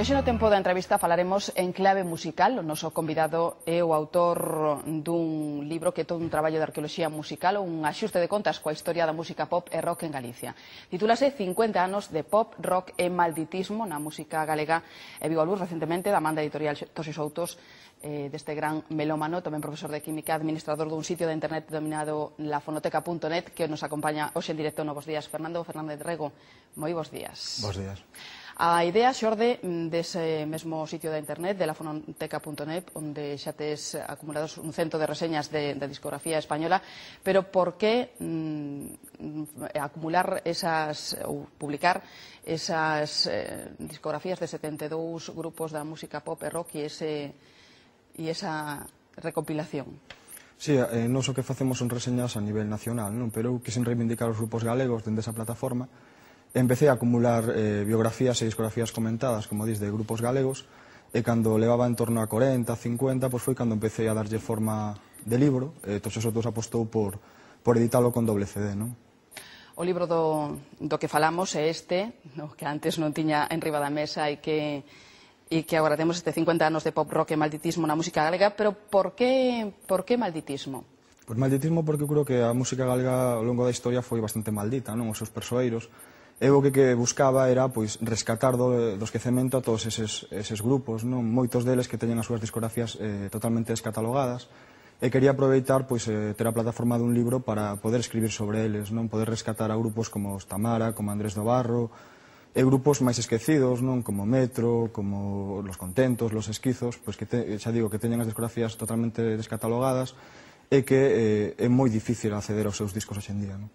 Hoxe no tempo da entrevista falaremos en clave musical. O noso convidado é o autor dun libro que é todo un traballo de arqueoloxía musical, un axuste de contas coa historia da música pop e rock en Galicia. Titúlase 50 anos de pop, rock e malditismo na música galega e viu a luz recentemente da manda editorial Tos e Soutos deste gran melómano, tamén profesor de química, administrador dun sitio de internet denominado lafonoteca.net, que nos acompaña hoxe en directo no Bos Días. Fernando Fernández Rego, moi bos días. Bos días. A idea xorde dese mesmo sitio de internet, de lafonoteca.net, onde xa tes acumulados un cento de reseñas de discografía española, pero por que acumular esas, ou publicar esas discografías de 72 grupos da música pop e rock e esa recompilación? Sí, non só que facemos son reseñas a nivel nacional, non? Pero eu quixen reivindicar os grupos galegos dende esa plataforma. Empecé a acumular biografías e discografías comentadas, como dis, de grupos galegos, e cando levaba en torno a 40, 50, pois foi cando empecé a darlle forma de libro, e Tos e Soutos apostou por editalo con doble CD, non? O libro do que falamos é este, no, que antes non tiña en riba da mesa e que agora temos este 50 anos de pop, rock e malditismo na música galega, pero por que malditismo? Pois malditismo porque eu creo que a música galega ao longo da historia foi bastante maldita, non? Os seus persoeiros. Eu o que buscaba era pois rescatar do esquecemento a todos eses grupos, non? Moitos deles que teñen as súas discografías totalmente descatalogadas, e quería aproveitar pois ter a plataforma dun libro para poder escribir sobre eles, non? Poder rescatar a grupos como os Tamara, como Andrés do Barro, e grupos máis esquecidos, non? Como Metro, como Los Contentos, Los Esquizos, pois que xa digo que teñen as discografías totalmente descatalogadas e que é moi difícil acceder aos seus discos hoxe en día, non?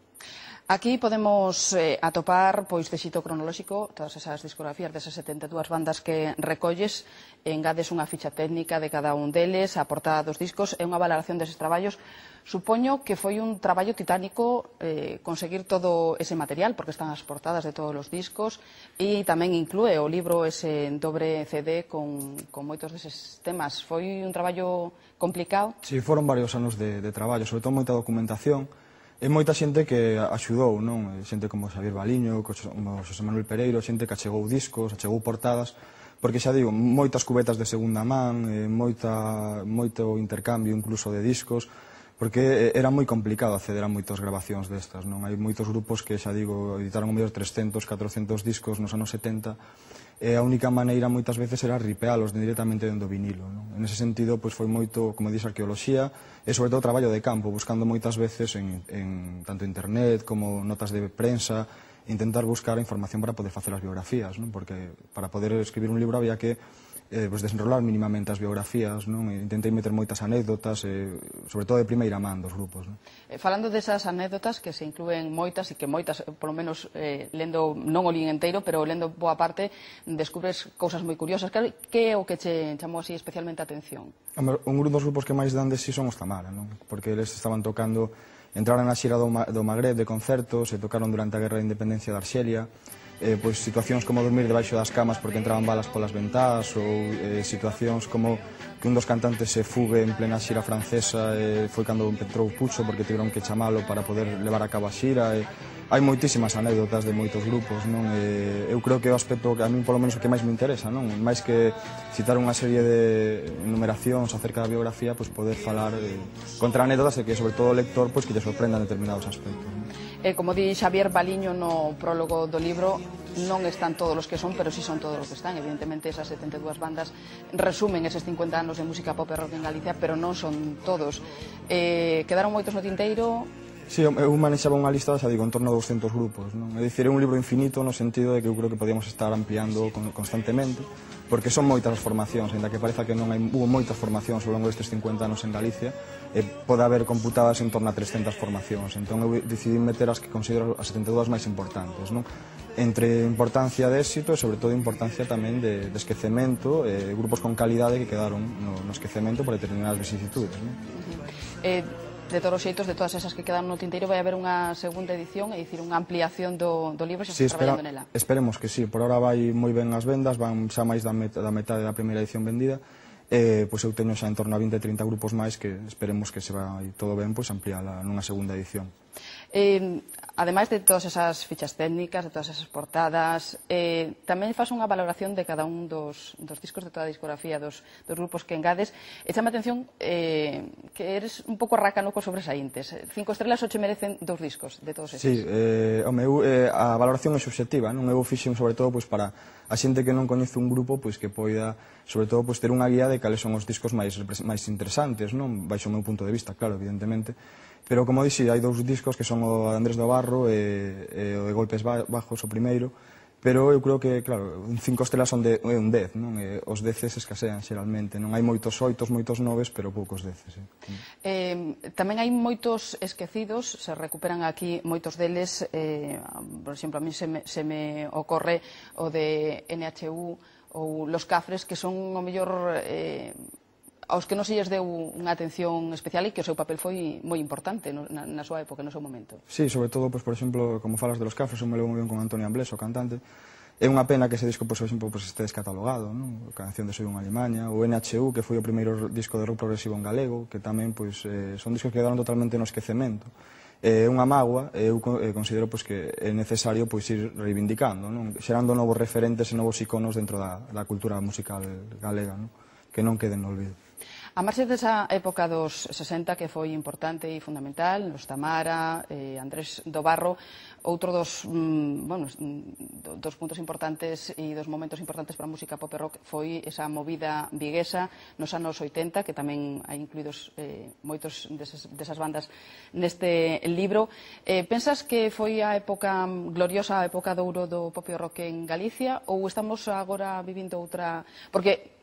Aquí podemos atopar, pois, de xito cronolóxico, todas esas discografías desas 72 bandas que recolles, engades unha ficha técnica de cada un deles, a portada dos discos e unha valoración deses traballos. Supoño que foi un traballo titánico conseguir todo ese material, porque están as portadas de todos os discos, e tamén inclúe o libro ese dobre CD con moitos deses temas. Foi un traballo complicado? Si, foron varios anos de traballo, sobre todo moita documentación. E moita xente que axudou, non? Xente como Xavier Baliño, como Xosé Manuel Pereiro, xente que achegou discos, achegou portadas, porque xa digo, moitas cubetas de segunda man, moito intercambio incluso de discos, porque era moi complicado acceder a moitas grabacións destas, non? Hai moitos grupos que, xa digo, editaron o mellor 300, 400 discos nos anos 70, e a única maneira moitas veces era ripealos directamente dentro do vinilo, non? En ese sentido, pois foi moito, como dix, arqueoloxía e sobre todo traballo de campo, buscando moitas veces en tanto internet como notas de prensa, intentar buscar a información para poder facer as biografías, non? Porque para poder escribir un libro había que desenrolar mínimamente as biografías, non? Intentei meter moitas anécdotas, sobre todo de primeira man dos grupos, non? Falando desas anécdotas, que se inclúen moitas, e que moitas, polo menos lendo, non o lín inteiro, pero lendo boa parte, descubres cousas moi curiosas. Que é o que che chamou así especialmente a atención? Un dos grupos que máis dan de si son os Tamara, non? Porque eles estaban tocando, entraron na xira do Magreb de concertos, e tocaron durante a Guerra de Independencia de Arxelia, pois situacións como dormir debaixo das camas porque entraban balas polas ventás, ou situacións como que un dos cantantes se fugue en plena xira francesa, foi cando entrou Pucho porque tiveron que chamalo para poder levar a cabo a xira. Hai moitísimas anécdotas de moitos grupos, non? Eu creo que o aspecto que a mí polo menos o que máis me interesa, non? Máis que citar unha serie de enumeracións acerca da biografía, pois poder falar contra anécdotas e que sobre todo o lector pois que lle sorprendan determinados aspectos, non? Como di Xavier Baliño no prólogo do libro, non están todos os que son, pero sí son todos os que están. Evidentemente, esas 72 bandas resumen eses 50 anos de música pop e rock en Galicia, pero non son todos. Quedaron moitos no tinteiro? Sí, eu manexaba unha lista, xa digo, en torno a 200 grupos, non? É dicir, é un libro infinito no sentido de que eu creo que podíamos estar ampliando constantemente, porque son moitas as formacións, ainda que pareza que non hubo moitas formacións ao longo destes 50 anos en Galicia, pode haber computadas en torno a 300 formacións, entón eu decidí meter as que considero as 72 máis importantes, non? Entre importancia de éxito e sobre todo importancia tamén de esquecemento, grupos con calidade que quedaron no esquecemento por determinadas vicisitudes, non? De todos os xeitos, de todas esas que quedan no tinteiro, vai haber unha segunda edición, é dicir, unha ampliación do libro, xa está traballando nela. Esperemos que sí, por ahora vai moi ben as vendas, van xa máis da metade da primeira edición vendida, pois eu teño xa en torno a 20-30 grupos máis que esperemos que se vai todo ben, pois ampliala nunha segunda edición. Ademais de todas esas fichas técnicas, de todas esas portadas, tamén faz unha valoración de cada un dos discos de toda a discografía dos grupos que engades. E chama a atención que eres un pouco rácano cos sobresaíntes. 5 estrelas o che merecen 2 discos de todos esos. Sí, a valoración é subxectiva, non? Eu fixen sobre todo para a xente que non coñece un grupo que poida, sobre todo, ter unha guía de cales son os discos máis interesantes, non? Baixo o meu punto de vista, claro, evidentemente. Pero, como dixi, hai 2 discos que son o de Andrés do Barro e o de Golpes Bajos, o primeiro, pero eu creo que, claro, 5 estrelas son un 10, non? Os 10 escasean xeralmente, non? Hai moitos 8, moitos 9, pero poucos 10. Tamén hai moitos esquecidos, se recuperan aquí moitos deles, por exemplo, a mí se me ocorre o de NHU ou Los Cafres, que son o mellor aos que non se lles deu unha atención especial e que o seu papel foi moi importante na súa época, no seu momento. Sí, sobre todo, por exemplo, como falas de Los Cafres, eu me levo moi ben con Antonio Amblés, o cantante. É unha pena que ese disco, por exemplo, este descatalogado, non? A canción de Soy unha Alimaña, o NHU, que foi o primeiro disco de rock progresivo en galego, que tamén son discos que quedaron totalmente no esquecemento. É unha mágoa, eu considero que é necesario ir reivindicando, non? Xerando novos referentes e novos iconos dentro da cultura musical galega, non? Que non queden no olvido. A marxe desa época dos 60 que foi importante e fundamental, nos Tamara, Andrés do Barro, outro dos puntos importantes e dos momentos importantes para a música pop e rock foi esa movida viguesa nos anos 80, que tamén hai incluídos moitos desas bandas neste libro. Pensas que foi a época gloriosa, a época de ouro do pop e rock en Galicia, ou estamos agora vivindo outra... Porque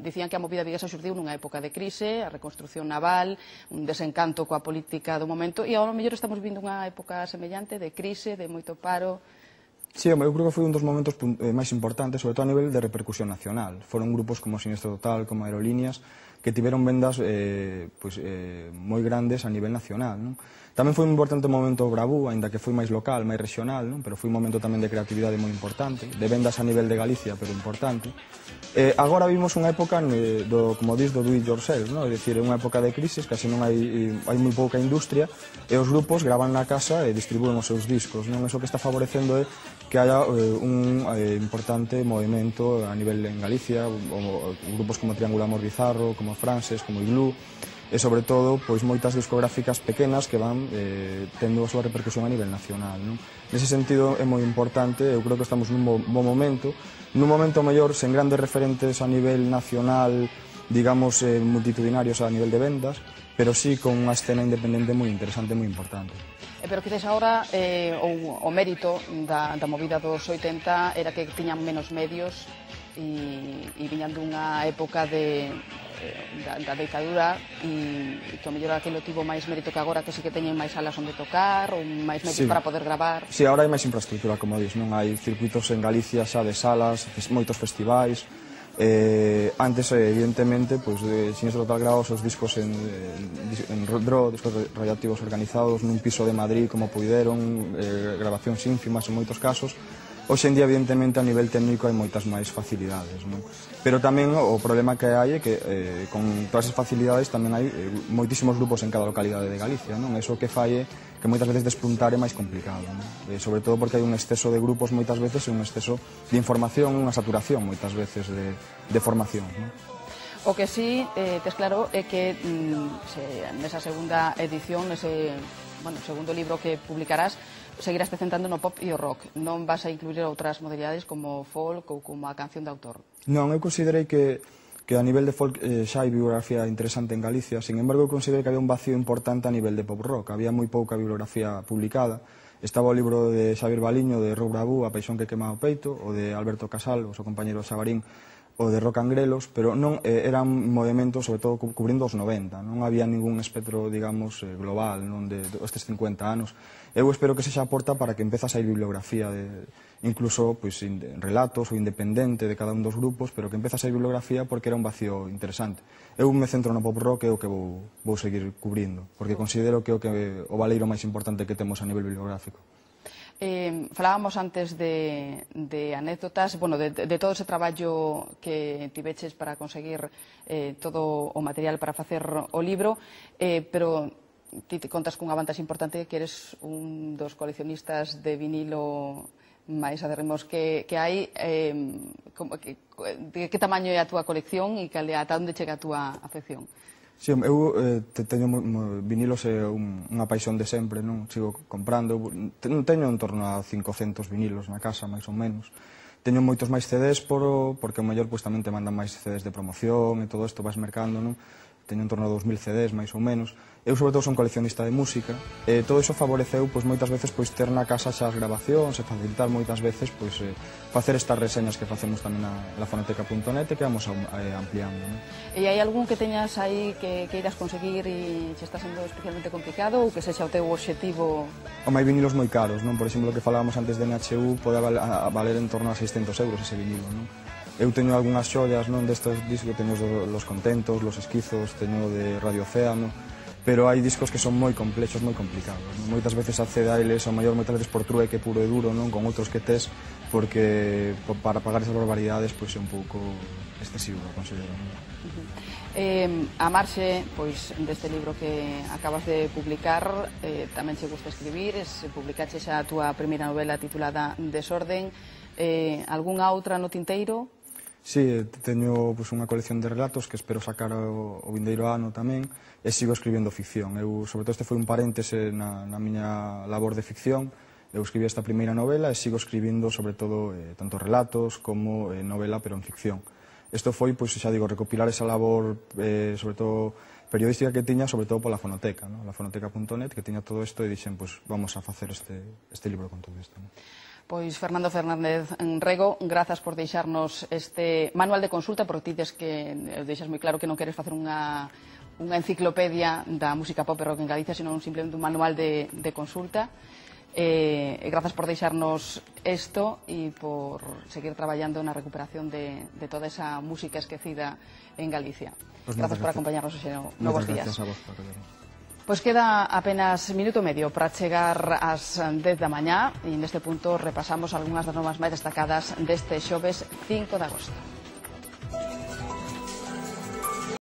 dicían que a movida viguesa xurdiu nunha época de crise, a reconstrucción naval, un desencanto coa política do momento, e ao mellor estamos vivindo unha época semellante de crise, de moito paro. Sí, eu creo que foi un dos momentos máis importantes, sobre todo a nivel de repercusión nacional. Foron grupos como Sinestro Total, como Aerolíneas, que tiveron vendas moi grandes a nivel nacional, non? Tamén foi un importante momento Bravú, aínda que foi máis local, máis regional, non? Pero foi un momento tamén de creatividade moi importante, de vendas a nivel de Galicia, pero importante. Agora vimos unha época, como dis, do do it yourself, non? É dicir, unha época de crisis, casi non hai moi pouca industria, e os grupos gravan na casa e distribúen os seus discos, non? Eso que está favorecendo é que haya un importante movimento a nivel en Galicia, grupos como Triángulo Amor Bizarro, como Frances, como Iglú, e sobre todo moitas discográficas pequenas que van tendo a súa repercusión a nivel nacional, non? Nese sentido é moi importante, eu creo que estamos nun bon momento mellor, sen grandes referentes a nivel nacional, digamos, multitudinarios a nivel de vendas, pero sí con unha escena independente moi interesante, moi importante. Pero quizás agora o mérito da movida dos 80 era que tiñan menos medios e viñan dunha época da ditadura e que ao mellor aquilo tivo máis mérito que agora, que sí que teñen máis salas onde tocar ou máis medios para poder gravar. Sí, agora hai máis infraestructura, como dis, non? Hai circuitos en Galicia xa de salas, moitos festivais. Antes, evidentemente, Sinestro Total grababa os seus discos en RO, discos radioactivos organizados nun piso de Madrid como puideron, grabacións ínfimas en moitos casos. Hoxe en día, evidentemente, a nivel técnico hai moitas máis facilidades, non? Pero tamén o problema que hai é que con todas as facilidades tamén hai moitísimos grupos en cada localidade de Galicia, non? Eso que fai é que moitas veces despuntar é máis complicado, non? Sobre todo porque hai un exceso de grupos moitas veces e un exceso de información, unha saturación moitas veces de formación, non? O que sí tes claro é que nesa segunda edición, nese segundo libro que publicarás, seguirás te centrando no pop e o rock. Non vas a incluir outras modalidades como folk ou como a canción de autor? Non, eu considerei que a nivel de folk xa hai bibliografía interesante en Galicia. Sin embargo, eu considerei que había un vacío importante a nivel de pop rock. Había moi pouca bibliografía publicada. Estaba o libro de Xavier Baliño, de Rock Bravú, A paixón que quema o peito, o de Alberto Casal, o seu compañero Xabarín, o de Rock Angrelos, pero non eran movimentos, sobre todo, cubrindo os 90. Non había ningún espectro, digamos, global, non de estes 50 anos. Eu espero que sexa a porta para que empezas a ir bibliografía, incluso relatos ou independente de cada un dos grupos, pero que empezas a ir bibliografía porque era un vacío interesante. Eu me centro no pop rock e o que vou seguir cubrindo, porque considero que o valeiro máis importante que temos a nivel bibliográfico. Falábamos antes de anécdotas, de todo ese traballo que tiveches para conseguir todo o material para facer o libro, pero ti te contas cunha vantaxe importante que eres un dos coleccionistas de vinilo máis aderrimos que hai. De que tamaño é a túa colección e ata onde chega a túa afección? Si, eu teño vinilos, é unha paixón de sempre, non? Sigo comprando, teño en torno a 500 vinilos na casa, máis ou menos. Teño moitos máis CDs porque o mellor tamén te mandan máis CDs de promoción e todo isto vas mercando, non? Teño en torno a 2000 CDs, máis ou menos. Eu, sobre todo, son coleccionista de música e todo iso favoreceu, moitas veces, ter na casa xa as grabacións e facilitar moitas veces, facer estas reseñas que facemos tamén na fonoteca.net e que vamos ampliando, non? E hai algún que teñas aí que irás conseguir e se está sendo especialmente complicado ou que sexa o teu obxectivo? Hai vinilos moi caros, non? Por exemplo, o que falábamos antes de NHU pode valer en torno a 600 euros ese vinilo, non? Eu teño algunhas xollas, non, destes discos, teño los contentos, los esquizos, teño de Radio Océano, pero hai discos que son moi complexos, moi complicados, non? Moitas veces accede a eles, ao maior moitas veces por trueque puro e duro, non? Con outros que tes, porque para pagar esas barbaridades é un pouco excesivo, considero, non? A marxe deste libro que acabas de publicar, tamén che gusta escribir, publicaches a túa primeira novela titulada Desorden. Algunha outra no tinteiro? Si, teño unha colección de relatos que espero sacar o vindeiro ano tamén e sigo escribindo ficción. Sobre todo, este foi un paréntese na miña labor de ficción. Eu escribí esta primeira novela e sigo escribindo, sobre todo, tanto relatos como novela, pero en ficción. Isto foi, xa digo, recopilar esa labor, sobre todo, periodística que tiña, sobre todo pola fonoteca, la fonoteca.net, que tiña todo isto e dixen, vamos a facer este libro con todo isto. Pois Fernando Fernández Rego, grazas por deixarnos este manual de consulta, porque ti deixas moi claro que non queres facer unha enciclopedia da música pop e rock en Galicia, sino simplemente un manual de consulta. Grazas por deixarnos isto e por seguir traballando na recuperación de toda esa música esquecida en Galicia. Grazas por acompañarnos hoxe no Novos Días. Pois queda apenas minuto e medio para chegar ás 10 da mañá e neste punto repasamos algunhas das novas máis destacadas deste xoves 5 de agosto.